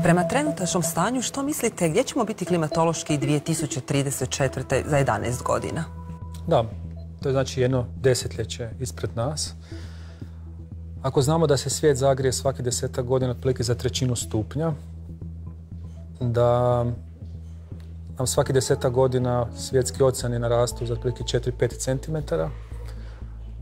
Prema trenutačnom stanju, što mislite, gdje ćemo biti klimatološki 2034. za 11 godina? Da, to je znači jedno desetljeće ispred nas. Ako znamo da se svijet zagrije svaki 10 godina otprilike za 1/3 stupnja, da nam svaki 10 godina svjetski oceani narastu za otprilike 4-5 cm,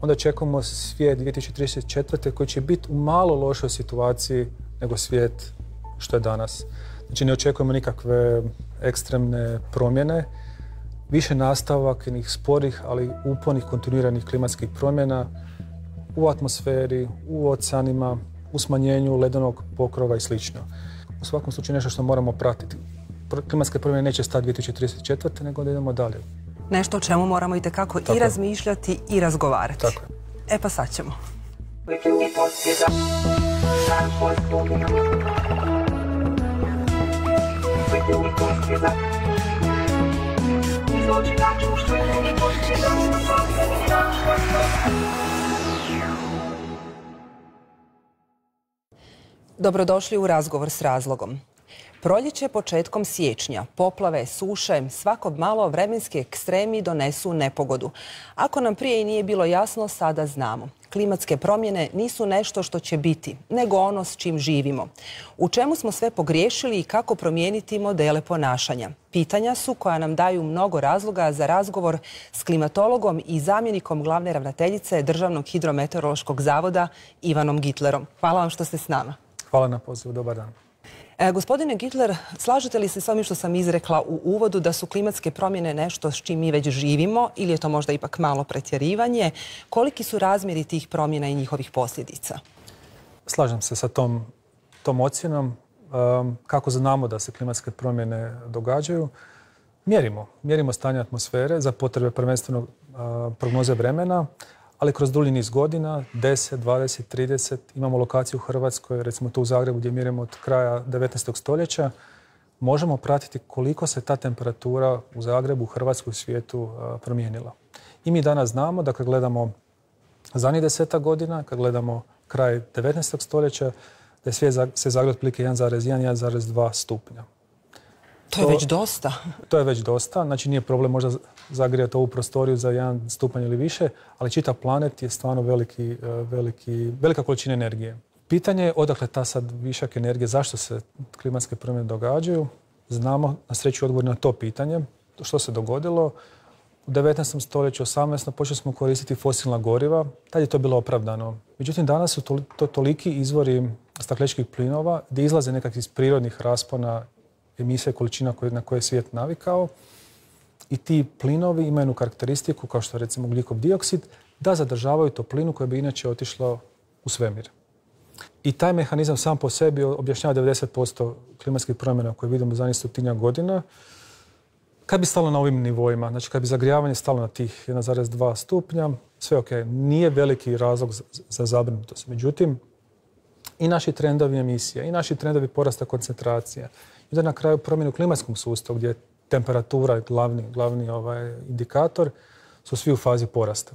onda očekujemo svijet 2034. koji će biti u malo lošoj situaciji nego svijet što je danas. Znači ne očekujemo nikakve ekstremne promjene, više nastavak jednih sporih, ali upornih kontinuiranih klimatskih promjena u atmosferi, u oceanima, u smanjenju ledenog pokrova i sl. U svakom slučaju nešto što moramo pratiti. Klimatske promjene neće stati 2034. nego da idemo dalje. Nešto o čemu moramo itekako i razmišljati i razgovarati. Tako je. E pa sad ćemo. Dobrodošli u Razgovor s razlogom. Proljeće početkom siječnja, poplave, suše, svako malo vremenski ekstremi donesu nepogodu. Ako nam prije i nije bilo jasno, sada znamo. Klimatske promjene nisu nešto što će biti, nego ono s čim živimo. U čemu smo sve pogriješili i kako promijeniti modele ponašanja? Pitanja su koja nam daju mnogo razloga za razgovor s klimatologom i zamjenikom glavne ravnateljice Državnog hidrometeorološkog zavoda Ivanom Gitlerom. Hvala vam što ste s nama. Hvala na pozivu, dobar dan. Gospodine Gitler, slažete li se s ovim što sam izrekla u uvodu da su klimatske promjene nešto s čim mi već živimo ili je to možda ipak malo pretjerivanje? Koliki su razmjeri tih promjena i njihovih posljedica? Slažem se sa tom ocjenom. Kako znamo da se klimatske promjene događaju? Mjerimo stanje atmosfere za potrebe prvenstveno prognoze vremena, ali kroz dulji niz godina, 10, 20, 30, imamo lokaciju u Hrvatskoj, recimo tu u Zagrebu gdje mjerimo od kraja 19. stoljeća, možemo pratiti koliko se ta temperatura u Zagrebu, u Hrvatskoj, u svijetu promijenila. I mi danas znamo da kad gledamo zadnjih 10 godina, kad gledamo kraj 19. stoljeća, da je svijet se zagrio otprilike 1,1-1,2 stupnja. To je već dosta. To je već dosta. Znači nije problem možda zagrijati ovu prostoriju za 1 stupanj ili više, ali čitav planet je stvarno velika količina energije. Pitanje je odakle ta sad višak energije, zašto se klimatske promjene događaju. Znamo na sreću odgovor na to pitanje. Što se dogodilo? U 19. stoljeću, 18. počeli smo koristiti fosilna goriva. Tad je to bilo opravdano. Međutim, danas su to toliki izvori stakleničkih plinova gdje izlaze nekakvih iz prirodnih raspona emisije količina na koje je svijet navikao i ti plinovi imaju jednu karakteristiku, kao što je recimo ugljikov dioksid, da zadržavaju toplinu koja bi inače otišla u svemir. I taj mehanizam sam po sebi objašnjava 90% klimatskih promjena koje vidimo u zadnjih 100 godina. Kad bi stalo na ovim nivoima, znači kad bi zagrijavanje stalo na tih 1,2 stupnja, sve ok, nije veliki razlog za zabrinutost. Međutim, i naši trendovi emisija, i naši trendovi porasta koncentracija, i da na kraju promjenu u klimatskom sustavu gdje je temperatura glavni indikator, su svi u fazi porasta.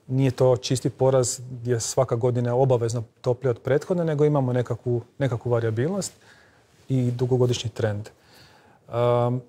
Nije to čisti porast gdje svaka godina je obavezno toplije od prethodne, nego imamo nekakvu varijabilnost i dugogodišnji trend.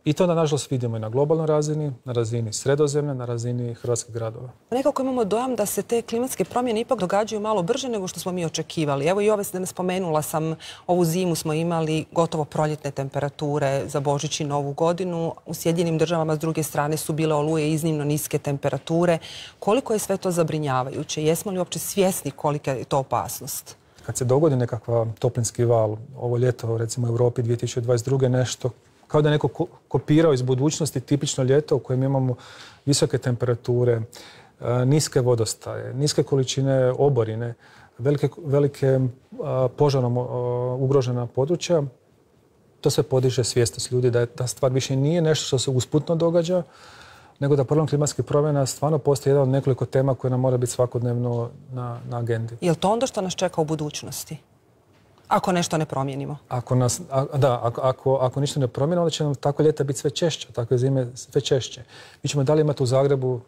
I to nažalost vidimo i na globalnoj razini, na razini Sredozemlja, na razini hrvatskih gradova. Nekako imamo dojam da se te klimatske promjene ipak događaju malo brže nego što smo mi očekivali. Evo i ove spomenula sam, ovu zimu smo imali gotovo proljetne temperature za Božić i Novu godinu. U Sjedinjenim Državama s druge strane su bile oluje iznimno niske temperature. Koliko je sve to zabrinjavajuće? Jesmo li uopće svjesni kolika je to opasnost? Kad se dogodi nekakav toplinski val, ovo ljeto recimo u Europi 2022. nešto kao da je neko kopirao iz budućnosti tipično ljeto u kojem imamo visoke temperature, niske vodostaje, niske količine oborine, velike požarom ugrožena područja. To sve podiže svjesnost ljudi da ta stvar više nije nešto što se usputno događa, nego da problem klimatskih promjena stvarno postoji jedan od nekoliko tema koje nam mora biti svakodnevno na agendi. Je li to onda što nas čeka u budućnosti? Ako nešto ne promijenimo. Ako ništa ne promijenimo, onda će nam tako ljeta biti sve češće, takve zime sve češće. Mi ćemo dalje imati u Zagrebu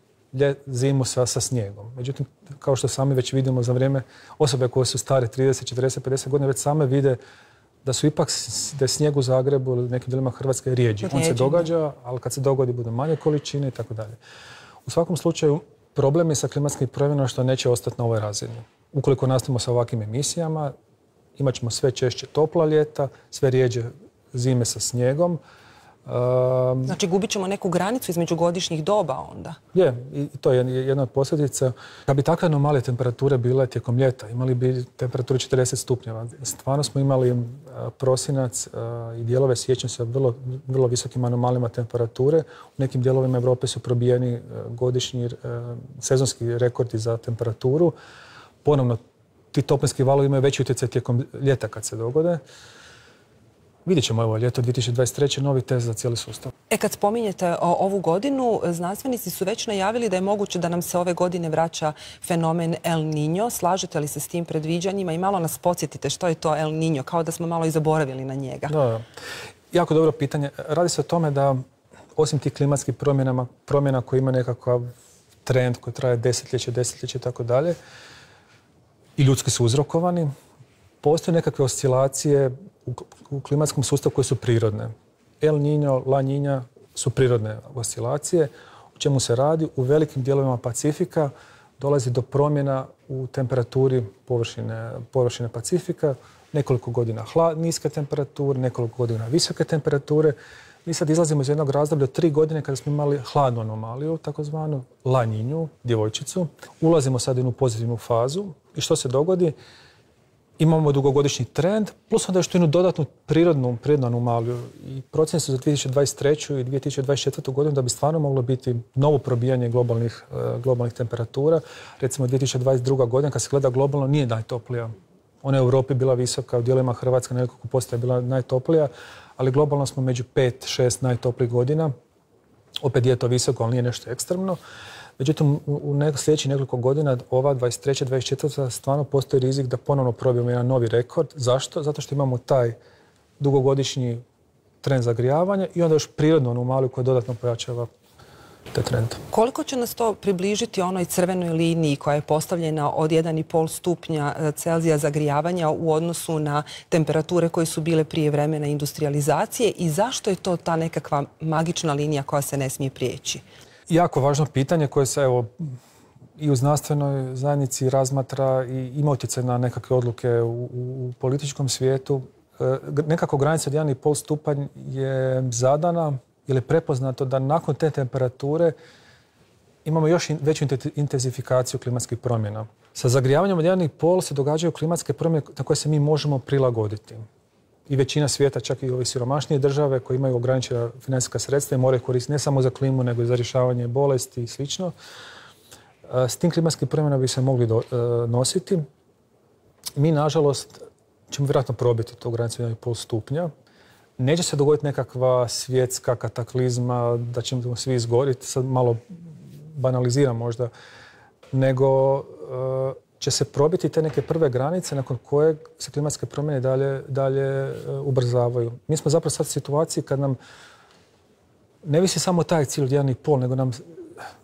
zimu sa snijegom. Međutim, kao što sami već vidimo za vrijeme, osobe koje su stare 30, 40, 50 godina već same vide da je snijeg u Zagrebu ili nekim dijelima Hrvatske rijeđi. On se događa, ali kad se dogodi bude manje količine i tako dalje. U svakom slučaju, problem je sa klimatskim promjenama što neće ostati na ovoj razini. Ukoliko nastavimo sa ovakvim emisijama, imat ćemo sve češće topla ljeta, sve rijeđe zime sa snijegom. Znači gubit ćemo neku granicu između godišnjih doba onda? Je, i to je jedna od posljedica. Kad bi takve anomalije temperature bile tijekom ljeta, imali bi temperaturu 40 stupnjeva. Stvarno smo imali prosinac i dijelove siječnja sa vrlo visokim anomalijama temperature. U nekim dijelovima Europe su probijeni godišnji sezonski rekordi za temperaturu. Ponovno, ti toplinski valovi imaju veći utjecaj tijekom ljeta kad se dogode. Vidjet ćemo ovo ljeto 2023. novi test za cijeli sustav. Kad spominjete ovu godinu, znanstvenici su već najavili da je moguće da nam se ove godine vraća fenomen El Niño. Slažete li se s tim predviđanjima i malo nas podsjetite što je to El Niño, kao da smo malo i zaboravili na njega? Da. Jako dobro pitanje. Radi se o tome da osim tih klimatskih promjena koje ima nekakav trend koji traje desetljeće i tako dalje, i ljudski su uzrokovani, postoje nekakve oscilacije u klimatskom sustavu koje su prirodne. El Niño, La Niña su prirodne oscilacije. O čemu se radi? U velikim dijelovima Pacifika dolazi do promjena u temperaturi površine Pacifika. Nekoliko godina niske temperature, nekoliko godina visoke temperature. Mi sad izlazimo iz jednog razdoblja od 3 godine kada smo imali hladnu anomaliju, takozvanu La Niñu, djevojčicu. Ulazimo sad u jednu pozitivnu fazu i što se dogodi? Imamo dugogodišnji trend, plus onda još jednu dodatnu prirodnu anomaliju. I procjene su za 2023. i 2024. godinu da bi stvarno moglo biti novo probijanje globalnih temperatura. Recimo 2022. godina, kad se gleda globalno, nije najtoplija. Ona je u Europi bila visoka, u dijelovima Hrvatske na nekoliko postaja je bila najtoplija, ali globalno smo među 5-6 najtoplijih godina. Opet je to visoko, ali nije nešto ekstremno. Međutim, u sljedećih nekoliko godina, ova 23. 24. stvarno postoji rizik da ponovno probijemo jedan novi rekord. Zašto? Zato što imamo taj dugogodišnji trend zagrijavanja i onda još prirodnu anomaliju koja dodatno pojačava te trende. Koliko će nas to približiti onoj crvenoj liniji koja je postavljena od 1,5 stupnja Celzija zagrijavanja u odnosu na temperature koje su bile prije vremena industrializacije i zašto je to ta nekakva magična linija koja se ne smije prijeći? Jako važno pitanje koje se i u znanstvenoj zajednici razmatra i ima utjecaj na nekakve odluke u političkom svijetu. Nekako granica od 1,5 stupanj je zadana ili je prepoznato da nakon te temperature imamo još veću intenzifikaciju klimatskih promjena. Sa zagrijavanjem od 1,5 se događaju klimatske promjene na koje se mi možemo prilagoditi. I većina svijeta, čak i ove siromašnije države koje imaju ograničena financijska sredstva i moraju koristiti ne samo za klimu, nego i za rješavanje bolesti i sl. S tim klimatskim promjenama bi se mogli nositi. Mi, nažalost, ćemo vjerojatno probiti tu granicu 1,5 stupnja. Neće se dogoditi nekakva svjetska kataklizma, da ćemo svi izgoriti, sad malo banaliziram možda, nego će se probiti te neke prve granice nakon kojeg se klimatske promjene dalje ubrzavaju. Mi smo zapravo sad u situaciji kad nam ne visi samo taj cilj od 1,5, nego nam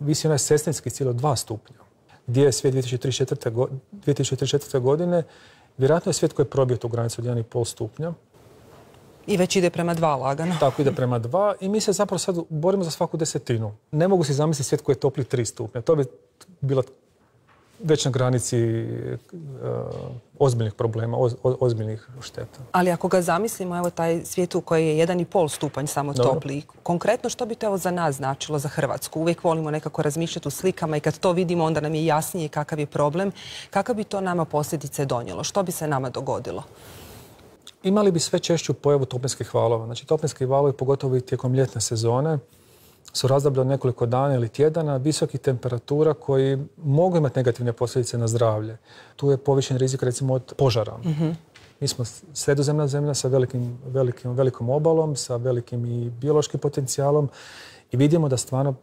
visi onaj sestrinski cilj od 2 stupnja. Gdje je svijet 2034. godine? Vjerojatno je svijet koji je probio tu granicu od 1,5 stupnja. I već ide prema 2 lagano. Tako, ide prema 2 i mi se zapravo sad borimo za svaku desetinu. Ne mogu si zamisliti svijet koji je topli 3 stupnja. To bi bila već na granici ozbiljnih problema, ozbiljnih šteta. Ali ako ga zamislimo, evo taj svijet u koji je 1,5 stupanj samo topli, konkretno što bi to za nas značilo za Hrvatsku? Uvijek volimo nekako razmišljati u slikama i kad to vidimo onda nam je jasnije kakav je problem. Kakav bi to nama posljedice donijelo? Što bi se nama dogodilo? Imali bi sve češću pojavu toplinskih valova. Znači, toplinski valovi, pogotovo i tijekom ljetne sezone, su razdoblje od nekoliko dana ili tjedana visokih temperatura koji mogu imati negativne posljedice na zdravlje. Tu je povišen rizik recimo od požara. Mi smo sredozemna zemlja sa velikom obalom, sa velikim i biološkim potencijalom i vidimo da stvarno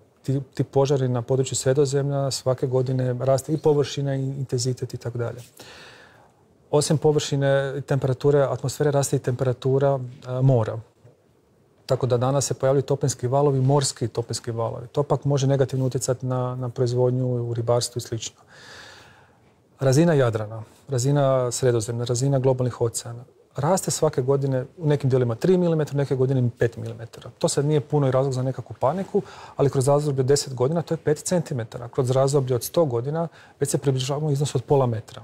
ti požari na području Sredozemlja svake godine raste i površina i intenzitet i tako dalje. Osim površine temperature atmosfere raste i temperatura mora. Tako da danas se pojavljaju toplinski valovi, morski toplinski valovi. To pak može negativno utjecati na proizvodnju u ribarstvu i sl. Razina Jadrana, razina Sredozemlja, razina globalnih oceana. raste svake godine u nekim dijelima 3 mm, neke godine 5 mm. To sad nije puno i razlog za nekakvu paniku, ali kroz razdoblje od 10 godina to je 5 cm. Kroz razdoblje od 100 godina već se približavamo iznosu od pola metra.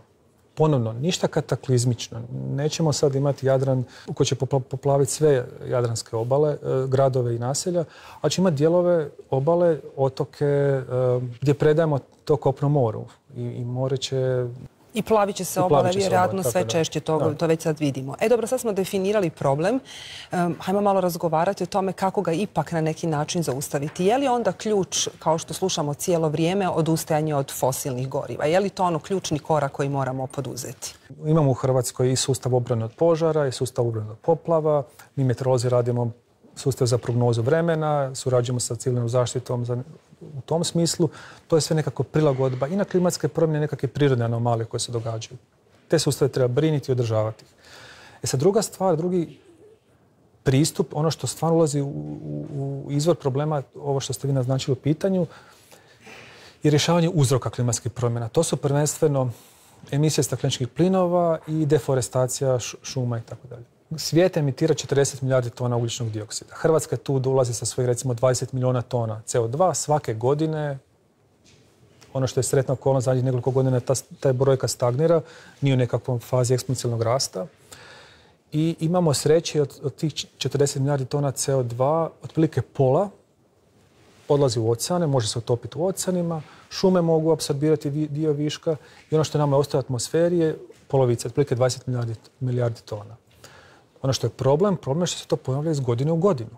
Ponovno, ništa kataklizmično. Nećemo sad imati Jadran koji će poplaviti sve jadranske obale, gradove i naselja, ali će imati dijelove obale, otoke gdje predajemo to kopno moru. I more će... I plavit će se obale, vjerojatno sve češće, to već sad vidimo. Dobro, sad smo definirali problem. Hajmo malo razgovarati o tome kako ga ipak na neki način zaustaviti. Je li onda ključ, kao što slušamo cijelo vrijeme, odustajanje od fosilnih goriva? Je li to ključni korak koji moramo poduzeti? Imamo u Hrvatskoj i sustav obrane od požara, i sustav obrane od poplava. Mi meteorolozi radimo sustav za prognozu vremena, surađujemo sa civilnom zaštitom u tom smislu. To je sve nekako prilagodba i na klimatske promjene, nekakve prirodne anomalije koje se događaju. Te sustave treba briniti i održavati. Sad, druga stvar, drugi pristup, ono što stvarno ulazi u izvor problema, ovo što ste vi naznačili u pitanju, je rješavanje uzroka klimatskih promjena. To su prvenstveno emisije stakleničkih plinova i deforestacija šuma i tako dalje. Svijet emitira 40 milijardi tona ugljičnog dioksida. Hrvatska tu dolazi sa svojih recimo 20 milijuna tona CO2 svake godine. Ono što je sretna okolnost zadnjih nekoliko godina, ta brojka stagnira, nije u nekakvom fazi eksponencijalnog rasta. I imamo sreće od tih 40 milijardi tona CO2, otprilike pola odlazi u oceane, može se utopiti u oceanima, šume mogu apsorbirati dio viška i ono što nama ostaje u atmosferi je polovica, otprilike 20 milijardi tona. Ono što je problem je što se to ponavlja iz godine u godinu.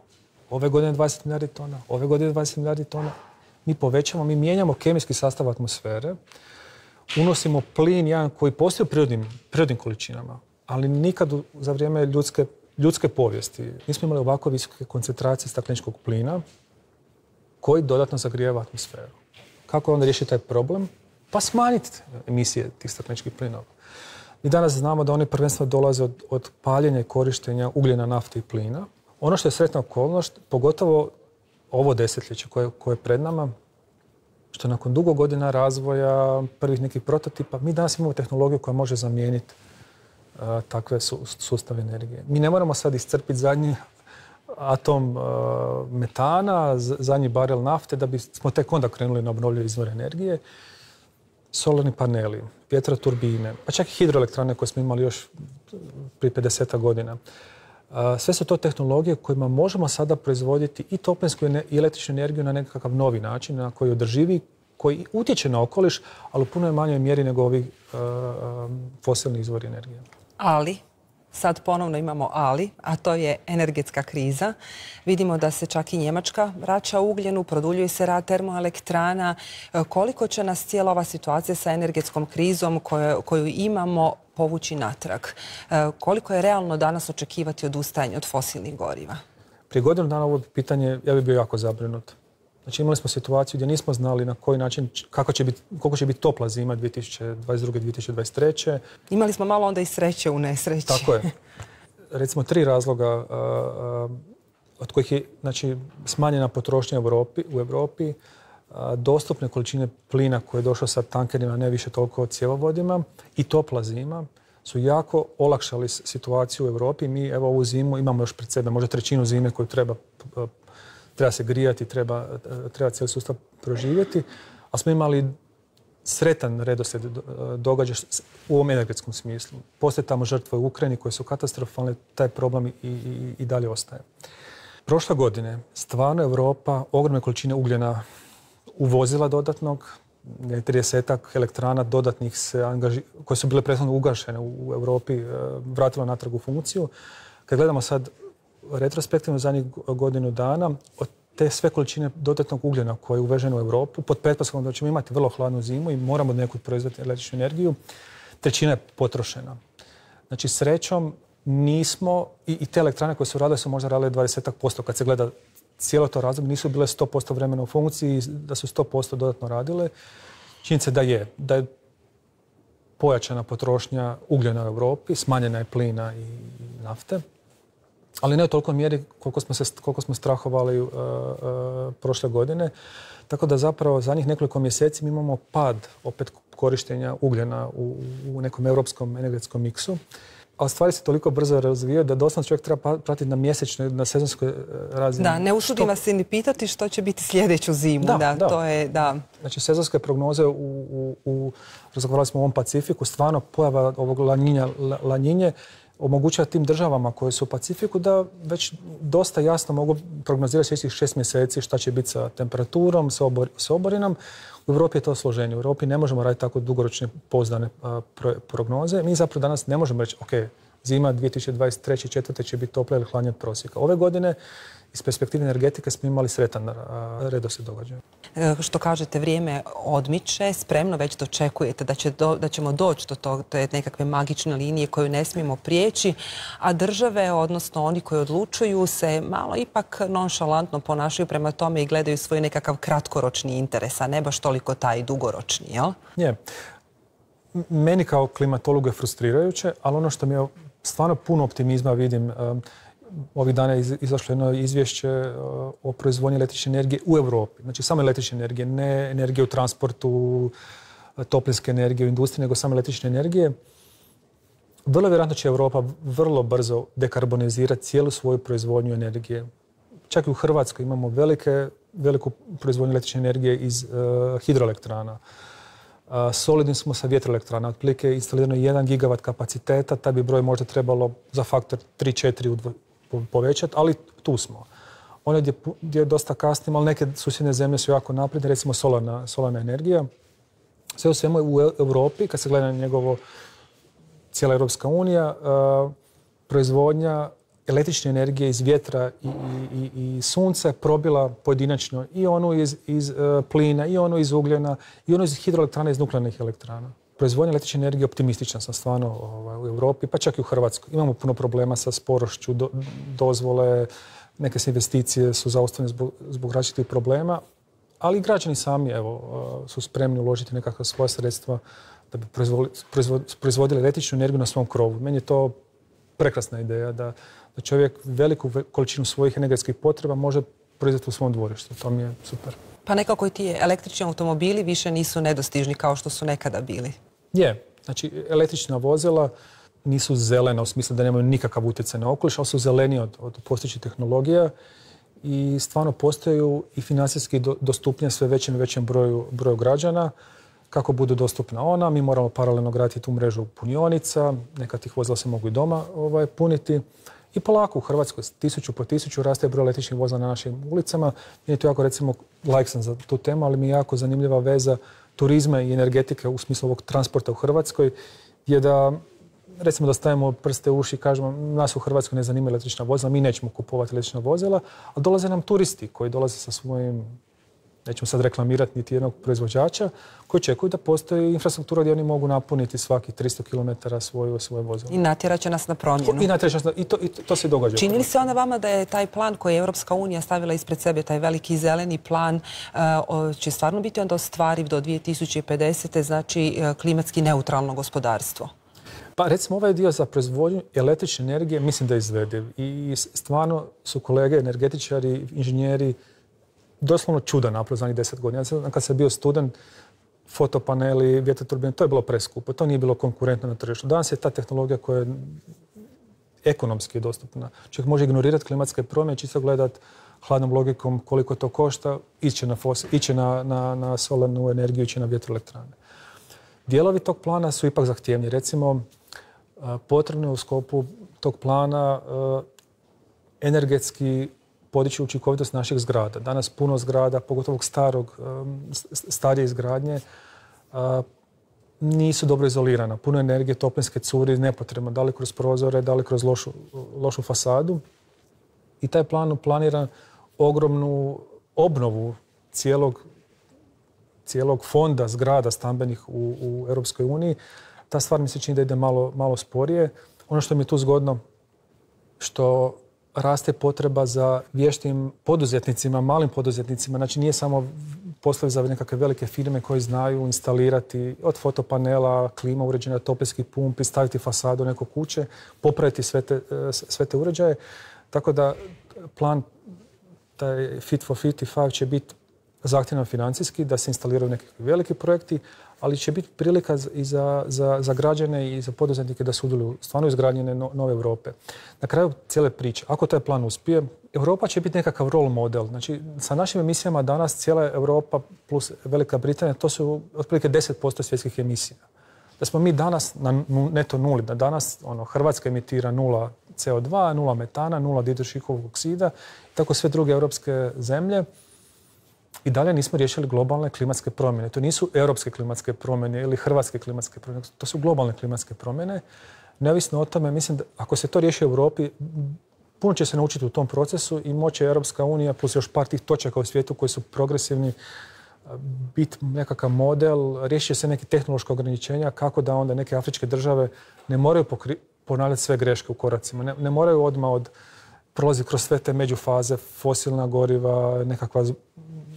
Ove godine 20 milijardi tona, ove godine 20 milijardi tona. Mi povećamo, mi mijenjamo kemijski sastav atmosfere, unosimo plin jedan koji postoji u prirodnim količinama, ali nikad za vrijeme ljudske povijesti nismo imali ovako visoke koncentracije stakleničkog plina koji dodatno zagrijeva atmosferu. Kako onda riješiti taj problem? Pa smanjiti emisije tih stakleničkih plinova. Mi danas znamo da oni prvenstveno dolaze od paljenja i korištenja ugljena, nafte i plina. Ono što je sretna okolnost, pogotovo ovo desetljeće koje je pred nama, što nakon dugo godina razvoja, prvih nekih prototipa, mi danas imamo tehnologiju koja može zamijeniti takve sustave energije. Mi ne moramo sad iscrpiti zadnji atom metana, zadnji barel nafte, da bismo tek onda krenuli na obnovljive izvore energije. Solarni paneli, vjetroturbine, pa čak i hidroelektrane koje smo imali još prije 50 godina. Sve su to tehnologije kojima možemo sada proizvoditi i toplinsku i električnu energiju na nekakav novi način, na koji je održivi, koji utječe na okoliš, ali u puno manjoj mjeri nego ovi fosilni izvori energije. Ali, sad ponovno imamo ali, a to je energetska kriza. Vidimo da se čak i Njemačka vraća ugljenu, produljuje se rad termoelektrana. Koliko će nas cijela ova situacija sa energetskom krizom koju imamo povući natrag? Koliko je realno danas očekivati odustajanje od fosilnih goriva? Prije godinu dana ovo pitanje, ja bih bio jako zabrinut. Znači imali smo situaciju gdje nismo znali na koji način, koliko će biti topla zima 2022. 2023. Imali smo malo onda i sreće u nesreći. Tako je. Recimo 3 razloga od kojih je smanjena potrošnja u Europi, dostupne količine plina koje je došlo sa tankerima, ne više toliko cjevovodima i topla zima su jako olakšali situaciju u Europi. Mi evo ovu zimu imamo još pred sebe, možda trećinu zime koju treba se grijati, treba cijeli sustav proživjeti, ali smo imali sretan redoslijed događaja u ovom energetskom smislu. Postoje tamo žrtve u Ukrajini koje su katastrofalne, taj problem i dalje ostaje. Prošle godine stvarno Europa ogromne količine ugljena uvozila dodatnog, 30 elektrana dodatnih koje su bile prethodno ugašene u Europi, vratilo natrag u funkciju. Kad gledamo sad retrospektivno zadnjih godinu dana, od te sve količine dodatnog ugljena koje je uveženo u Europu, pod pretpostavkom da ćemo imati vrlo hladnu zimu i moramo nekud proizvoditi električnu energiju, trećina je potrošena. Znači, srećom nismo, i te elektrane koje su radile su možda radile 20%. Kad se gleda cijelo to razdoblje, nisu bile 100% vremena u funkciji, da su 100% dodatno radile. Činjenica da je pojačana potrošnja ugljena u Europi, smanjena je plina i nafte, ali ne u toliko mjeri koliko smo strahovali prošle godine. Tako da zapravo zadnjih nekoliko mjeseci mi imamo pad opet korištenja ugljena u nekom europskom energetskom miksu. ali stvari se toliko brzo razvijaju da doslovno čovjek treba pratiti na mjesečnoj, na sezonskoj razini. Da, ne usudim vas se ni pitati što će biti sljedeću zimu. To je, da. Znači, sezonske prognoze razgovarali smo o ovom Pacifiku, stvarno pojava ovog lanjinje omogućava tim državama koje su u Pacifiku da već dosta jasno mogu prognozirati sljedećih 6 mjeseci šta će biti sa temperaturom, sa oborinom. U Europi je to složenije. U Europi ne možemo raditi tako dugoročne pouzdane prognoze. Mi zapravo danas ne možemo reći, ok, zima 2023-2024 će biti toplija ili hladnija od prosjeka. Ove godine iz perspektive energetike smo imali sretan redoslijed događaja. Što kažete, vrijeme odmiče, spremno već dočekujete da ćemo doći do te nekakve magične linije koju ne smijemo prijeći, a države, odnosno oni koji odlučuju, se malo ipak nonšalantno ponašaju prema tome i gledaju svoj nekakav kratkoročni interes, a ne baš toliko taj dugoročni, jel? Je. Meni kao klimatologu je frustrirajuće, ali ono što mi je stvarno puno optimizma vidim, ovih dana je izašlo jedno izvješće o proizvodnji električne energije u Europi. Znači samo električne energije, ne energije u transportu, toplinske energije u industriji, nego samo električne energije. Vrlo vjerojatno će Europa vrlo brzo dekarbonizirati cijelu svoju proizvodnju energije. Čak i u Hrvatskoj imamo veliku proizvodnju električne energije iz hidroelektrana. Solidni smo sa vjetroelektrana. Otprilike instalirano 1 gigavat kapaciteta, taj bi broj možda trebalo za faktor 3-4 povećati, ali tu smo. Ono gdje dosta kasnimo, ali neke susjedne zemlje su jako napredne, recimo solarna energija. Sve u svemu u Europi, kad se gleda na njegovo cijela Europska unija, proizvodnja električne energije iz vjetra i sunca je probila pojedinačno i onu iz plina, i onu iz ugljena, i onu iz hidroelektrana, iz nuklearnih elektrana. Proizvodnja električne energije optimistična sam stvarno u Europi, pa čak i u Hrvatskoj. Imamo puno problema sa sporošću, dozvole, neke se investicije su zaustavljene zbog različitih problema, ali i građani sami su spremni uložiti nekakva svoja sredstva da bi proizvodili električnu energiju na svom krovu. Meni je to prekrasna ideja da čovjek veliku količinu svojih energetskih potreba može proizvesti u svom dvorištu. To mi je super. Pa nekako i ti električni automobili više nisu nedostižni kao što su nekada bili. Je. Znači, električna vozila nisu zelena u smislu da nemaju nikakav utjecaj na okoliš, ali su zeleniji od postojećih tehnologija i stvarno postaju i financijski dostupnije sve većem i većem broju građana. Kako budu dostupna ona, mi moramo paralelno graditi tu mrežu punionica, neka tih vozila se mogu i doma puniti. I polako u Hrvatskoj 1000 po 1000 raste broj električnih vozila na našim ulicama. Meni je to jako, recimo, like sam za tu temu, ali mi je jako zanimljiva veza turizma i energetike u smislu ovog transporta u Hrvatskoj, je da, recimo, da stavimo prste u uši i kažemo nas u Hrvatskoj ne zanima električna vozila, mi nećemo kupovati električna vozila, ali dolaze nam turisti koji dolaze sa svojim, nećemo sad reklamirati niti jednog proizvođača, koji čekuju da postoji infrastruktura gdje oni mogu napuniti svaki 300 km svoje vozilo. I natjerat će nas na promjenu. I to se događa. Čini li se onda vama da je taj plan koji je Europska unija stavila ispred sebe, taj veliki zeleni plan, će stvarno biti onda ostvariv do 2050. znači klimatski neutralno gospodarstvo? Pa recimo ovaj dio za proizvodnju električne energije mislim da je izvediv. I stvarno su kolege, energetičari, inženjeri doslovno čuda napravili za njih 10 godina. Ja sam, kad sam bio student, fotopaneli, vjetroturbine, to je bilo preskupo. To nije bilo konkurentno na tržištu. Danas je ta tehnologija koja je ekonomski dostupna. Čovjek može ignorirati klimatske promjene, čisto gledati hladnom logikom koliko to košta, ići na solarnu energiju, ići na vjetroelektrane. Dijelovi tog plana su ipak zahtjevni. Recimo, potrebno je u sklopu tog plana energetski podići učinkovitost naših zgrada. Danas puno zgrada, pogotovo starije izgradnje, nisu dobro izolirana. Puno energije, toplinske curi, nepotrebno, da li kroz prozore, da li kroz lošu fasadu. I taj plan planira ogromnu obnovu cijelog fonda zgrada stambenih u Europskoj uniji. Ta stvar mi se čini da ide malo sporije. Ono što mi je tu zgodno, što raste potreba za vještim poduzetnicima, malim poduzetnicima. Znači nije samo poslovi za nekakve velike firme koji znaju instalirati od fotopanela, klima uređenja, toplinskih pumpi, staviti fasadu neke kuće, popraviti sve te uređaje. Tako da plan, taj Fit for 55 će biti zahtjevan financijski, da se instaliraju neki veliki projekti, ali će biti prilika i za građane i za poduzetnike da sudjeluju stvarno izgradnje nove Europe. Na kraju cijele priče, ako taj plan uspije, Europa će biti nekakav role model. Znači, sa našim emisijama danas cijela Europa plus Velika Britanija, to su otprilike 10% svjetskih emisija. Da smo mi danas na neto nuli, da danas Hrvatska emitira 0 CO2, 0 metana, 0 didušikovog oksida, tako sve druge europske zemlje. I dalje nismo riješili globalne klimatske promjene. To nisu europske klimatske promjene ili hrvatske klimatske promjene. To su globalne klimatske promjene. Neovisno o tome, mislim da ako se to riješi u Europi, puno će se naučiti u tom procesu i moće Europska unija plus još par tih točaka u svijetu koji su progresivni biti nekakav model, riješit će se neke tehnološke ograničenja kako da onda neke afričke države ne moraju ponavljati sve greške u koracima. Ne moraju odmah prolaziti kroz sve te međufaze, fosilna goriva,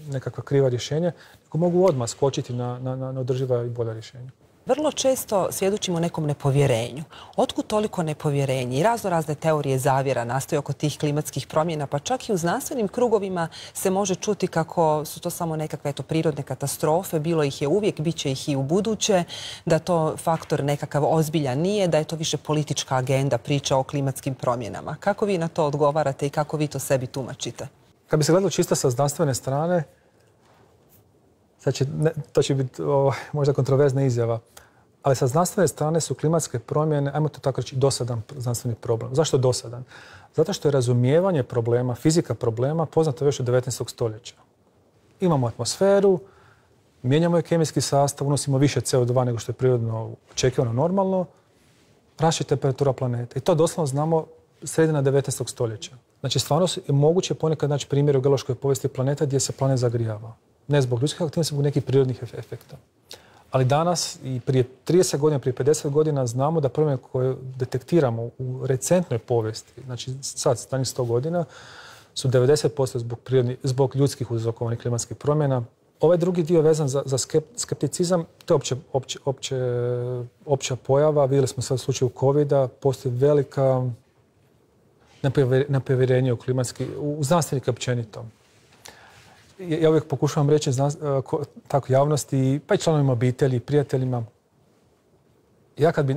nekakva kriva rješenja, nego mogu odmah skočiti na održiva i bolja rješenja. Vrlo često svjedočimo nekom nepovjerenju. Otkud toliko nepovjerenje? I razne teorije zavjera nastaju oko tih klimatskih promjena, pa čak i u znanstvenim krugovima se može čuti kako su to samo nekakve prirodne katastrofe, bilo ih je uvijek, bit će ih i u buduće, da to faktor nekakav ozbiljan nije, da je to više politička agenda, priča o klimatskim promjenama. Kako vi na to odgovarate i kako vi to sebi tumačite? Kad bi se gledalo čisto sa znanstvene strane, to će biti možda kontroverzna izjava, ali sa znanstvene strane su klimatske promjene, ajmo to tako reći, dosadan znanstveni problem. Zašto dosadan? Zato što je razumijevanje problema, fizika problema poznata još od 19. stoljeća. Imamo atmosferu, mijenjamo je kemijski sastav, unosimo više CO2 nego što je prirodno očekivano normalno, raste temperatura planeta. I to doslovno znamo sredina 19. stoljeća. Znači, stvarno je moguće ponekad naći primjer u geološkoj povijesti planeta gdje se planet zagrijava. Ne zbog ljudskih aktivnosti, zbog nekih prirodnih efekta. Ali danas i prije 30 godina, prije 50 godina znamo da promjene koje detektiramo u recentnoj povijesti, znači sad, stanjih 100 godina, su 90% zbog ljudskih uzrokovanih klimatskih promjena. Ovaj drugi dio vezan za skepticizam, to je opća pojava. Vidjeli smo sad u slučaju COVID-a, postoji velika nepovjerenje u znanstvenike općenito. Ja uvijek pokušavam reći tako javnosti, pa i članovima obitelji, prijateljima.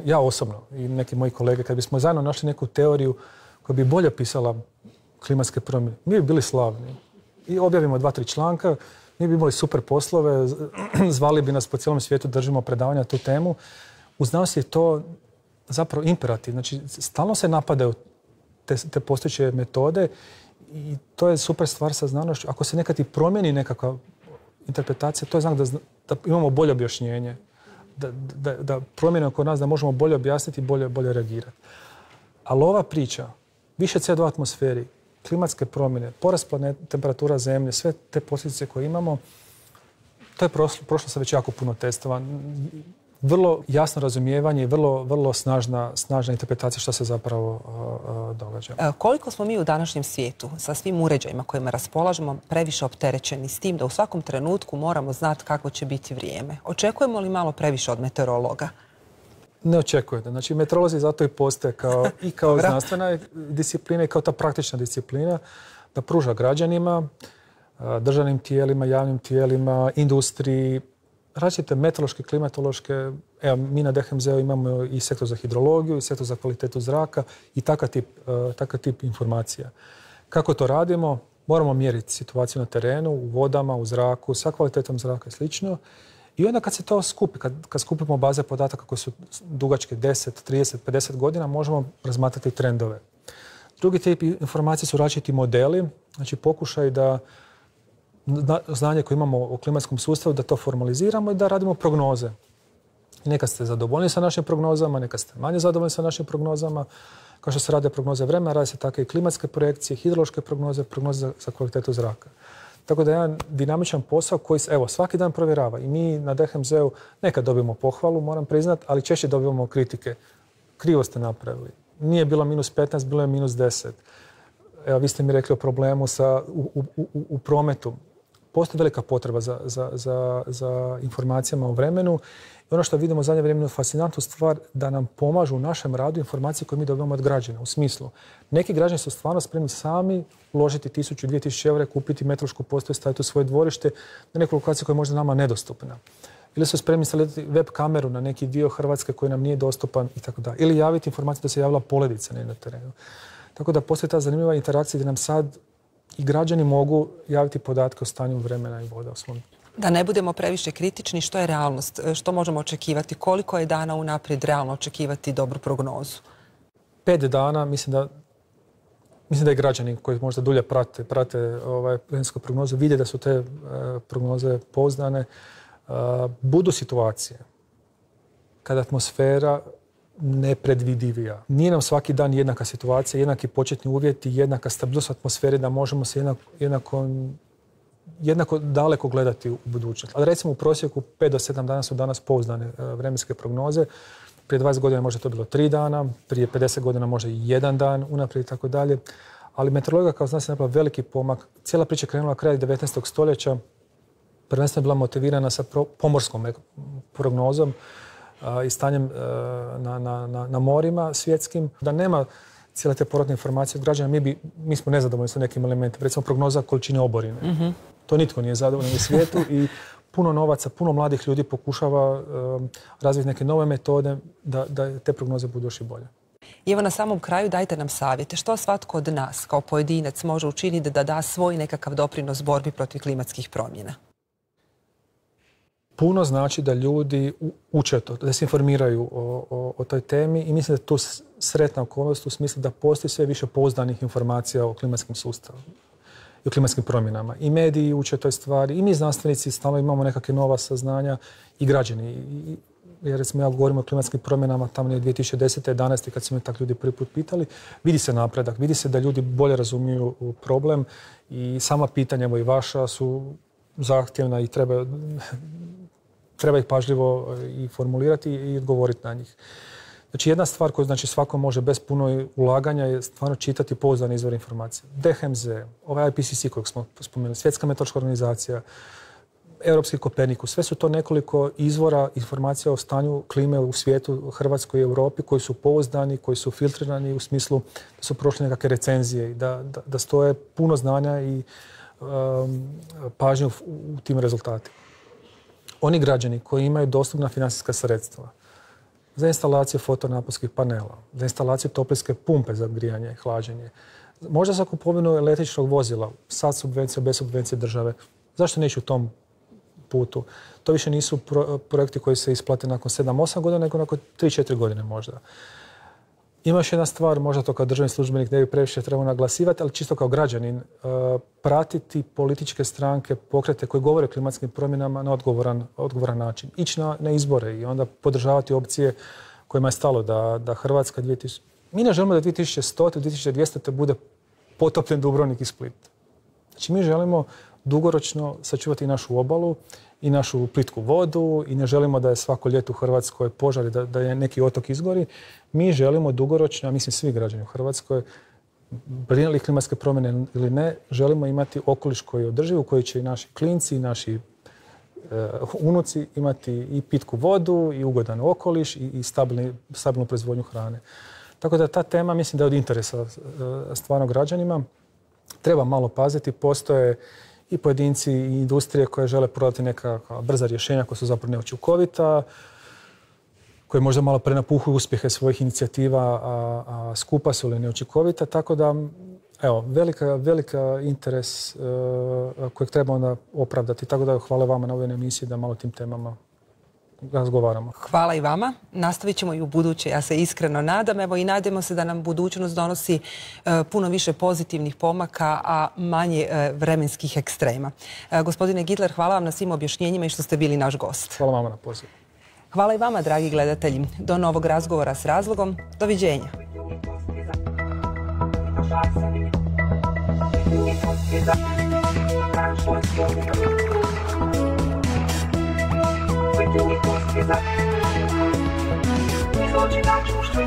Ja osobno i neki moji kolege, kad bismo zajedno našli neku teoriju koja bi bolje opisala klimatske promjene, mi bi bili slavni. I objavimo 2-3 članka, mi bi imali super poslove, zvali bi nas po cijelom svijetu, držimo predavanja na tu temu. U znanosti je to zapravo imperativ. Znači, stalno se napadaju te postojeće metode i to je super stvar sa znanošću. Ako se nekad i promijeni nekakva interpretacija, to je znak da imamo bolje objašnjenje, da promjene oko nas, da možemo bolje objasniti i bolje reagirati. Ali ova priča, više CO2 u atmosferi, klimatske promjene, porast temperatura zemlje, sve te posljedice koje imamo, to je prošlo sa već jako puno testova. Vrlo jasno razumijevanje i vrlo snažna interpretacija što se zapravo događa. Koliko smo mi u današnjem svijetu sa svim uređajima kojima raspolažemo previše opterećeni s tim da u svakom trenutku moramo znati kako će biti vrijeme? Očekujemo li malo previše od meteorologa? Ne očekujete. Znači, meteorolozi zato i postoje kao znanstvena disciplina i kao ta praktična disciplina da pruža građanima, državnim tijelima, javnim tijelima, industriji, različite meteorološke, klimatološke. Evo, mi na DHMZ-u imamo i sektor za hidrologiju, i sektor za kvalitetu zraka i takav tip informacija. Kako to radimo? Moramo mjeriti situaciju na terenu, u vodama, u zraku, sa kvalitetom zraka i slično. I onda kad se to skupi, kad skupimo baze podataka koje su dugačke 10, 30, 50 godina, možemo razmatrati trendove. Drugi tip informacije su različiti modeli, znači pokušaj da znanje koje imamo o klimatskom sustavu, da to formaliziramo i da radimo prognoze. Nekad ste zadovoljni sa našim prognozama, nekad ste manje zadovoljni sa našim prognozama. Kao što se rade prognoze vremena, rade se tako i klimatske projekcije, hidrološke prognoze, prognoze za kvalitetu zraka. Tako da je jedan dinamičan posao koji se svaki dan provjerava. I mi na DHMZ-u nekad dobijemo pohvalu, moram priznati, ali češće dobivamo kritike. Krivo ste napravili. Nije bilo -15, bilo je -10. Evo, vi ste mi rekli o problemu u prometu. Postoji velika potreba za informacijama o vremenu. I ono što vidimo u zadnje vrijeme je fascinantnu stvar da nam pomažu u našem radu informacije koje mi dobivamo od građana. U smislu, neki građani su stvarno spremni sami uložiti 1000-2000 eura, kupiti meteorološku postaju, staviti u svoje dvorište na neku lokaciju koja je možda nama nedostupna. ili su spremni instalirati web kameru na neki dio Hrvatske koji nam nije dostupan i tako dalje. Ili javiti informaciju da se javila poledica na terenu. Tako da postoji ta zanimljiva interakcija gdje nam sad i građani mogu javiti podatke o stanju vremena i voda u svom. Da ne budemo previše kritični, što je realnost? Što možemo očekivati? Koliko je dana unaprijed realno očekivati dobru prognozu? 5 dana, mislim da i građani koji možda dulje prate vremensku prognozu vide da su te prognoze pouzdane. Budu situacije kada atmosfera nepredvidivija. Nije nam svaki dan jednaka situacija, jednaki početni uvjeti, jednaka stabilnost atmosfere da možemo se jednako daleko gledati u budućnost. Ali recimo u prosjeku 5 do 7 dana su danas pouzdane vremenske prognoze. Prije 20 godina možda to bilo 3 dana, prije 50 godina možda i 1 dan unaprijed i tako dalje. Ali meteorologija kao zna se napravila veliki pomak. Cijela priča je krenula kraj 19. stoljeća. Prvenstveno je bila motivirana sa pomorskom prognozom i stanjem na morima svjetskim. Da nema cijele te povratne informacije od građana, mi smo nezadovoljni sa nekim elementima. Recimo prognoza količine oborine. To nitko nije zadovoljan u svijetu i puno novaca, puno mladih ljudi pokušava razviti neke nove metode da te prognoze budu još i bolje. I evo na samom kraju dajte nam savjete. Što svatko od nas kao pojedinac može učiniti da da svoj nekakav doprinos borbi protiv klimatskih promjena? Puno znači da ljudi uče to, da se informiraju o toj temi i mislim da je to sretna okolnost u smislu da postoji sve više pouzdanih informacija o klimatskim sustavu i o klimatskim promjenama. I mediji uče toj stvari, i mi znanstvenici stalno imamo nekakve nova saznanja i građani. Jer recimo ja govorim o klimatskim promjenama tamo je 2010. 11. kad su me tak ljudi prvi put pitali, vidi se napredak, vidi se da ljudi bolje razumiju problem i sama pitanja, evo i vaša, su zahtjevna i treba ih pažljivo i formulirati i odgovoriti na njih. Znači jedna stvar koju svako može bez puno ulaganja je stvarno čitati pouzdane izvore informacije. DHMZ, ovaj IPCC kojeg smo spomenuli, Svjetska meteorološka organizacija, Europski Kopernikus, sve su to nekoliko izvora informacija o stanju klime u svijetu, Hrvatskoj i Europi koji su pouzdani, koji su filtrirani u smislu da su prošli nekakve recenzije i da stoje puno znanja i pažnje u tim rezultatima. Oni građani koji imaju dostupna financijska sredstva za instalaciju fotonaponskih panela, za instalaciju toplinske pumpe za grijanje i hlađenje, možda za kupovinu električnog vozila, sa subvencijom, bez subvencije države, zašto ne ići u tom putu? To više nisu projekti koji se isplate nakon 7-8 godina, nego nakon 3-4 godine možda. Ima još jedna stvar, možda to kao državni službenik ne bi previše trebao naglasivati, ali čisto kao građanin, pratiti političke stranke, pokrete koji govore o klimatskim promjenama na odgovoran način. Ići na izbore i onda podržavati opcije kojima je stalo da Hrvatska Mi ne želimo da 2100. 2200. bude potopljen Dubrovnik i Split. Znači mi želimo dugoročno sačuvati našu obalu i našu plitku vodu i ne želimo da je svako ljeto u Hrvatskoj požar i da je neki otok izgori. Mi želimo dugoročno, a mislim svi građani u Hrvatskoj, brinuli klimatske promjene ili ne, želimo imati okoliš koji je održiv, u koji će i naši klinci i naši unuci imati i pitku vodu i ugodan okoliš i stabilnu proizvodnju hrane. Tako da ta tema mislim da je od interesa stvarno građanima. Treba malo paziti, postoje i pojedinci i industrije koje žele prodati neka brza rješenja koja su zapravo neučinkovita, koje možda malo prenapuhuju uspjehe svojih inicijativa, a skupa su ili neučinkovita. Tako da, evo, velika interes kojeg treba onda opravdati. Tako da hvala vama na ovoj emisiji da malo o tim temama razgovaramo. Hvala i vama. Nastavit ćemo i u buduće. Ja se iskreno nadam. Evo i nadamo se da nam budućnost donosi puno više pozitivnih pomaka, a manje vremenskih ekstrema. Gospodine Gitler, hvala vam na svim objašnjenjima i što ste bili naš gost. Hvala vama na pozivu. Hvala i vama, dragi gledatelji. Do novog razgovora s razlogom. Doviđenja. Izloči na čuštvu.